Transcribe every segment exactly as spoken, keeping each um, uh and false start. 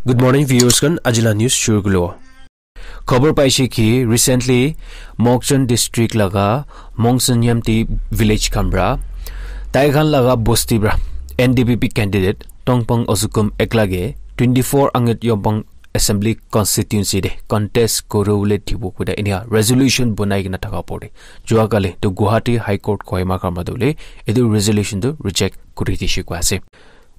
Good morning, viewers khan. Ajila news shuru kulo. Khobor paise ki recently Mokokchung district laga Mongsen Yamti village khan pra tai khan laga bosti pra N D P P candidate Tongpang Ozukum eklage twenty-four Angat Yompang Assembly Constituency de contest kuru le thibo kuda inia resolution bonai kena thaka pore. Jua kali to Guwahati High Court Kohima khan pra dole etu resolution to reject kuri dishi kwa ase.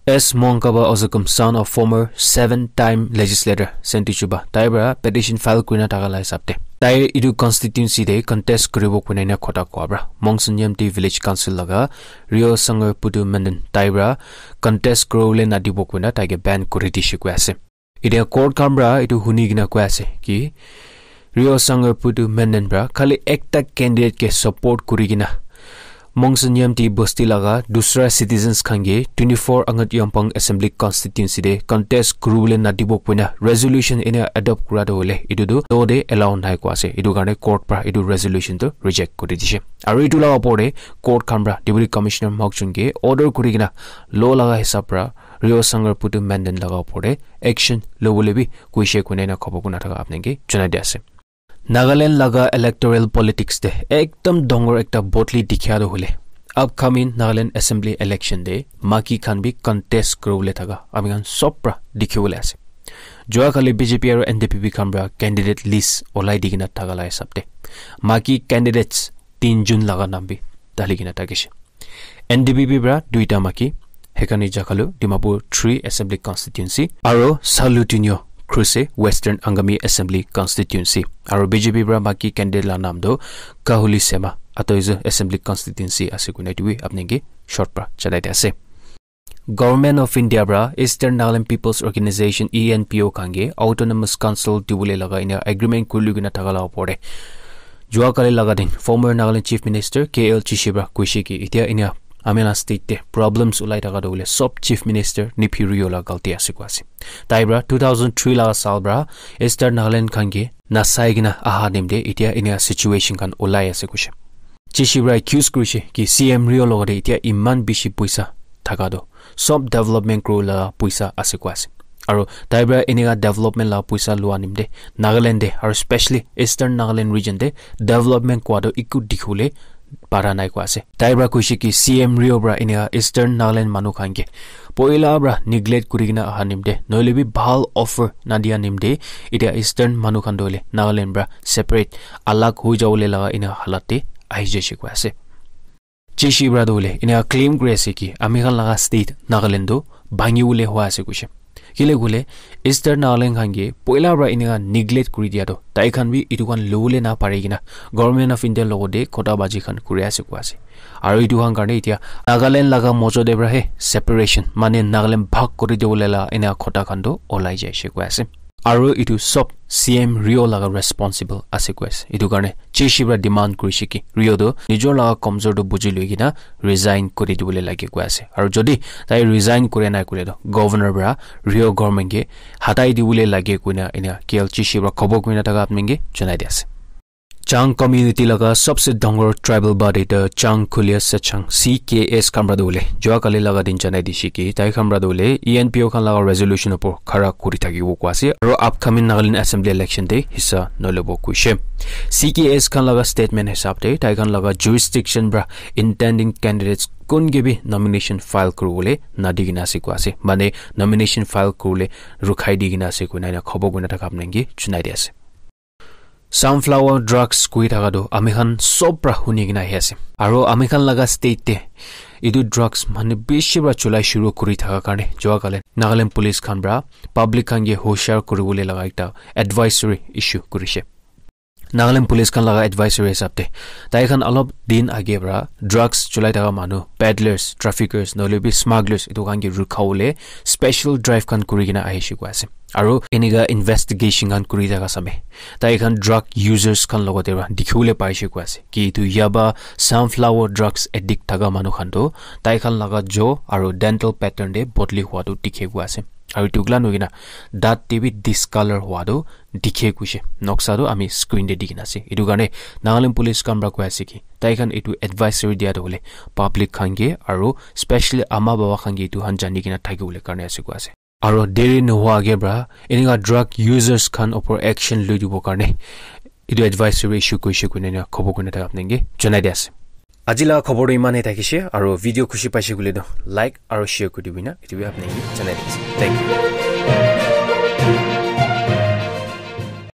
S Mongkaba Ozukum, son of former seven-time legislator Senti Chuba, tai pra petition file kurina thaka la hisab te tai etu constituency te contest kuribo kuina ena khota koa pra Mongsen Yamti Village Council laga Rio Sangar Putu Menden tai pra contest kuribole nadibo kuina tai ke ban kuri dishi koi ase. Etia court khan pra etu huni kena koi ase ki Rio Sangar Putu Menden pra khali ekta candidate ke support kuri kena Mongsen Yamti bosti laga dusra citizens khan ke twenty-four Angat Yompang Assembly Constituency te contest kuribole nadibo kuina resolution ena adopt kura to hoile etu tu law te allow nai koi ase. Etu karne court pra etu resolution tu reject kuri dishe. Aru etu laga opor te court khan pra Deputy Commissioner Mokokchung ke order kuri kena law laga hisab pra Rio Sangar Putu Menden laga opor te action lobole bi kuishe kuina ena khobor kuna thaka apni ke janai di ase. Nagaland laga electoral politics te ekdam dangor ekta boldly dikhia to hoile upcoming Nagaland Assembly election te maki khan bi contest kuribole thaka ami khan sob pra dikhibole ase. Jua kali B J P aru N D P P khan pra candidate list olai di kena thaka la hisab te maki candidates tin jun laga naam bi dali kena thakishe. N D P P pra duita maki, Hekani Jakhalu, Dimapur three Assembly Constituency, aro Salu Tunio, Khrouse, Western Angami Assembly Constituency, aro B J P pra maki candidate la naam do Kahuli Sema, Atoizu Assembly Constituency ase koina etu bi apni ke short pra janai di ase. Government of India pra Eastern Nagaland People's Organization, E N P O, khan ke Autonomous Council dibole laga ena agreement kuri lui kena thaka la opor te jua kali laga din former Nagaland Chief Minister K L Chishi pra koishe ki etia ena ami la state te problems ulai thaka to hoile sob Chief Minister Neiphiu Rio la galti ase koi ase. Tai pra two thousand three laga saal pra Eastern Nagaland khan ke nasai kena aha nim te etia ena situation khan ulai ase koishe. Chishi pra accuse kurishe ki C M Rio logote etia iman bishi poisa thaka to sob development kuri la poisa ase koi ase. Aro tai pra eneka development la poisa lua nimte Nagaland te aro specially Eastern Nagaland region te development kua to eku dikhibole para nai koi ase. Tai pra koishe ki C M Rio pra eneka Eastern Nagaland manu khan ke poila pra neglect kuri kena aha nimte nohoile bi bhal offer nadia nimte etia Eastern manu khan to hoile Nagaland pra separate alag hoi jabole laga ena halat te ahi jaishe koi ase. Chishi pra to hoile ena claim kuri ase ki ami khan laga state Nagaland to bhangi bole hua ase koishe. Kile koile Eastern Nagaland khan ke poila pra eneka neglect kuri dia to tai khan bi etu khan lobole na pari kena Government of India logote khota baji khan kuri ase koi ase. Aro etu khan karne etia Nagaland laga mojo te pra he separation mane Nagaland bhag kuri dibole la ena khota khan to olai jaishe koi ase. Aro etu sob C M Rio laga responsible ase koi ase. Etu karne Chishi pra demand kurishe ki Rio to nijor laga komjor to buji lui kena resign kuri dibole lage koi ase. Aro jodi tai resign kure nai kure to governor pra Rio government ke hatai dibole lage koina ena K L Chishi pra khobor kurina thaka apni ke janai di ase. Chang community laga sobse dangor tribal body the Chang Kulia Sechang, C K S, khan pra to hoile jua kali laga din janai dishe ki tai khan pra to hoile E N P O khan laga resolution opor khara kuri thakibo koi ase aro upcoming Nagaland Assembly election te hissa nolebo koishe. C K S khan laga statement hisab te tai khan laga jurisdiction pra intending candidates kun ke bi nomination file kuribole nadi kena ase koi ase, mane nomination file kuribole rukhai di kena ase koina ena khobor kurina thaka apni ke janai di ase. Sunflower drugs koi thaka to ami khan sob pra huni kena ahi ase. Aro ami khan laga state te etu drugs manu bishi pra cholai shuru kuri thaka karne jua kali Nagaland police khan pra public khan ke hoshiar kuribole laga ekta advisory issue kurishe. Nagaland police khan laga advisory hisab te tai khan alop din age pra drugs cholai thaka manu, peddlers, traffickers nohoile bi smugglers etu khan ke rukha bole special drive khan kuri kena ahishe koi ase. Aro eneka investigation khan kuri thaka same tai khan drug users khan logote pra dikhibole paishe koi ase ki etu yaba sunflower drugs addict thaka manu khan to tai khan laga jaw aro dental pattern te bodli hua to dikhe koi ase. Aro etu kila nohoi kena dat te bi discolor hua to dikhe koishe. Noksa to ami screen te di kena ase. Etu karne Nagaland police khan pra koi ase ki tai khan etu advisory dia to hoile public khan ke aro specially ama baba khan ke etu khan jani kena thakibole karne ase koi ase. Aro deri nohua age pra enika drug users khan opor action loi dibo karne etu advisory issue koise koine na khobo koine thaka apni ke janai di ase. Aji la khobor tu iman he thakishe, aro video khushi paise koile tu like aro share kuri dibi na, etu bi apni ke janai di ase. Thank you.